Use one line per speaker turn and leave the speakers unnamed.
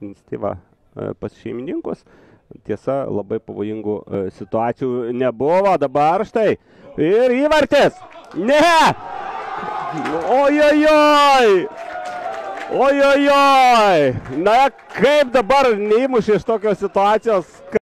iniciatyvą pas šeimininkus. Tiesa, labai pavojingų situacijų nebuvo. Dabar štai. Ir įvartis. Ne! Ojojoj! Ojojoj! Na, kaip dabar neįmušė iš tokios situacijos?